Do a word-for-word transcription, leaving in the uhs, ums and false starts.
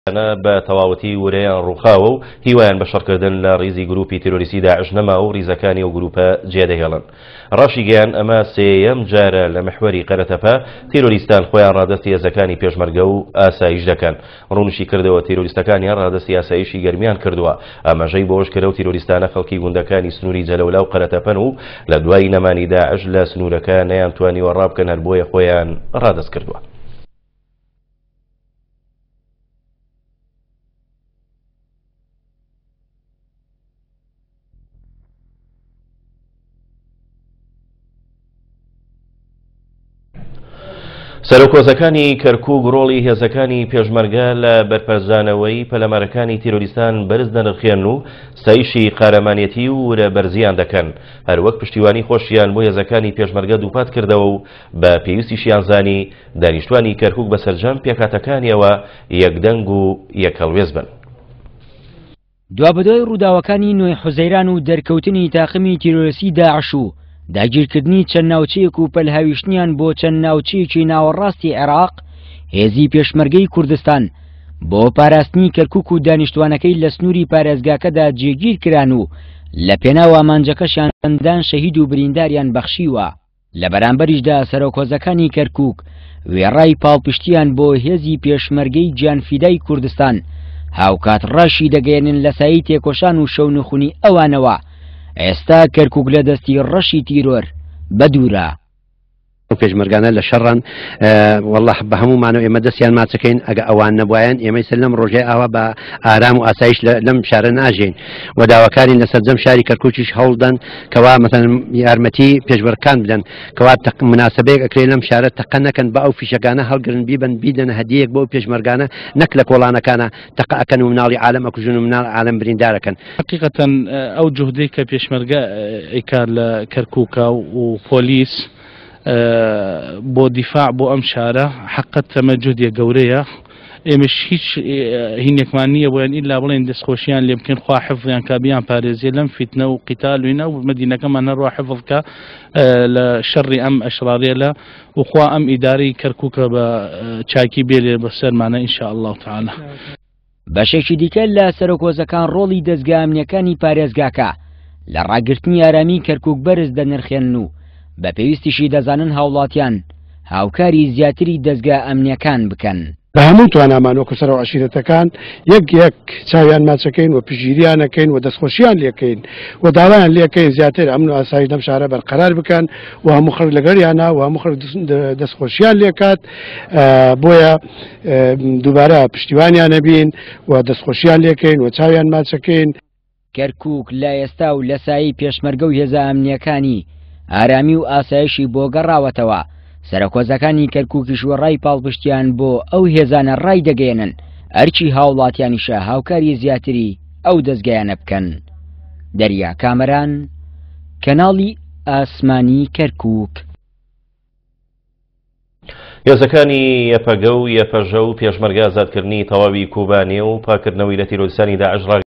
بە تەواوەتی ورەیان ڕووخاوە و هیوایان بە شەڕکردن لە ڕیزی گروپی تیرۆریستی داعش نەما و ڕیزەکانی ئەو گروپە جێدەهێڵن. ڕاشیگەیان ئەمە سێیەم جارە لە محوەری قەرەتەپە تیرۆریستان خۆیان ڕادەستی هێزەکانی پێشمەرگە و ئاسایش دەکەن. ڕوونیشی کردەوە تیرۆریستەکانیان ڕادەستی ئاسایشی گەرمیان کردووە. ئاماژەی بەوەش کرد و تیرۆریستانە خەڵکی گوندەکانی سنووری جەلەولا و قەرەتەپەن و لە دوای نەمانی داعش لە سنوورەکە نەیانتوانیوە ڕابکەن، هەر بۆیە خۆیان ڕادەست کردووە. سەرۆکۆزەکانی کەرکوک ڕۆڵی هێزەکانی پێشمەرگە لە بەرپەرچدانەوەی پەلامارەکانی تیرۆریستان بەرز دەنرخێن و ستایشی قارەمانێتی و ورە بەرزیان دەکەن. هەروەک پشتیوانی خۆشیان بۆ هێزەکانی پێشمەرگە دووپات کردەوە و بە پێویستیشیان زانی دانیشتوانی کەرکوک بە سەرجەم پێکهاتەکانیەوە یەکدەنگ و یەکهەڵوێست بن. دوابەدوای ڕووداوەکانی نۆی حوزەیران و دەرکەوتنی تاقمی تیرۆریستی داعش و داگیرکردنی چەند ناوچەیەک و پەلهاویشتنیان بۆ چەند ناوچەیەکی ناوەڕاستی عێراق، هێزی پێشمەرگەی کوردستان بۆ پاراستنی کەرکوک و دانیشتوانەکەی لە سنووری پارێزگاکەدا جێگیر کران و لە پێناو ئامانجەکەشیان چەندان شەهید و برینداریان بەخشیوە. لە بەرامبەریشدا سەرۆکهۆزەکانی کەرکوک وێڕای پاڵپشتیان بۆ هێزی پێشمەرگەی گیانفیدای کوردستان هاوکات ڕاشی دەگەیەنن لە سایەی تێکۆشان و شەونخونی ئەوانەوە ئێستا کەرکوک لە دەستی ڕەشی تیرۆر بەدوورە. ئەو پێشمەرگانە لە شەڕان والله بە هەموومانەوە ئێمە دەستیان ماچەکەین. ئەگە ئەوان نەبوایەن ئێمەی سەر لەم ڕۆژەی ئاوا بە ئارام و ئاسایش لەم شارە ناژین و داواکارین لە سەرجەم شاری کەرکوکیش هەوڵدەن کەوا مەسەن یارمەتی پێشمەرگەکان بدەن، کەوا مناسبەیەک ئەکرێ لەم شارە تەقە نەکەن، بە ئەو فیشەکانە هەڵگرن بیبن بیدەنە هەدیەک بۆ پێشمەرگانە، نەک لە کۆڵانەکانە تەقە ئەکەن و مناڵی عالەم ئەکوژن و مناڵ عالەم بریندارەکەن. حقیقەتەن ئەو جوهدەی کە پێشمەرگە ئەیکار لە کەرکوکە و پۆلیس بۆ دیفاع بۆ ئەم شارە حقت تەمە جودیە گەورەیە. ئێمەش هیچ هینێکمان نییە بۆیان ئیلا بڵێن دەستخۆشیان لێ بکەین، خوا حفظیان کا بیان پارێزێ لەم فیتنە و قیتال وینە و مەدینەکەمان هەروە حفظ کە لە شەڕی ئەم ئەشراریە لە وخوا ئەم ئیدارەی کەرکوکە بە چاکی بێلێ بەسەرمانە ئینشاء الله تعالی. بەشێکی دیکە لە سەرۆکۆزەکان ڕۆڵی دەزگا ئەمنیەکانی پارێزگاکە لە ڕاگرتنی ئارامی کەرکوک بەرز دەنرخێنن و بە پێویستیشی دەزانن هاوڵاتیان هاوکاری زیاتری دەزگا ئەمنیەکان بکەن. بە هەموو توانامان وەکو سەرەوە عەشیرەتەکان یەک یەک چاویان ماچەکەین و پشتگیریانەکەین و دەستخۆشیان لێکەین و داوایان لێکەین زیاتر ئەمن و ئاسایش لەم شارە بەرقەرار بکەن و هەموو خەڵک لەگەڵیانە و هەموو خەڵک دەستخۆشیان لێکات. بۆیە دووبارە پشتیوانیانە بین و دەستخۆشیان لێکەین و چاویان ماچەکەین. کەرکوک لە ئێستا و لە سایەی پێشمەرگە و هێزە ئەمنیەکانی ئارامی و ئاسایشی بۆ گەڕاوەتەوە. سەرۆکۆزەکانی کەرکوکیش وەڕای پاڵپشتیان بۆ ئەو هێزانە ڕای دەگەیەنن، ئەرکی هاوڵاتیانیشە هاوکاری زیاتری ئەو دەزگایانە بکەن. دەریا کامەران، کەناڵی ئاسمانی کەرکوک. هێزەکانی یەپەگە و یەپەژە و پێشمەرگە ئازادکردنی تەواوی کوبانێ و پاکردنەوەی لە تیرۆریستانی داعش ڕاگەیاند.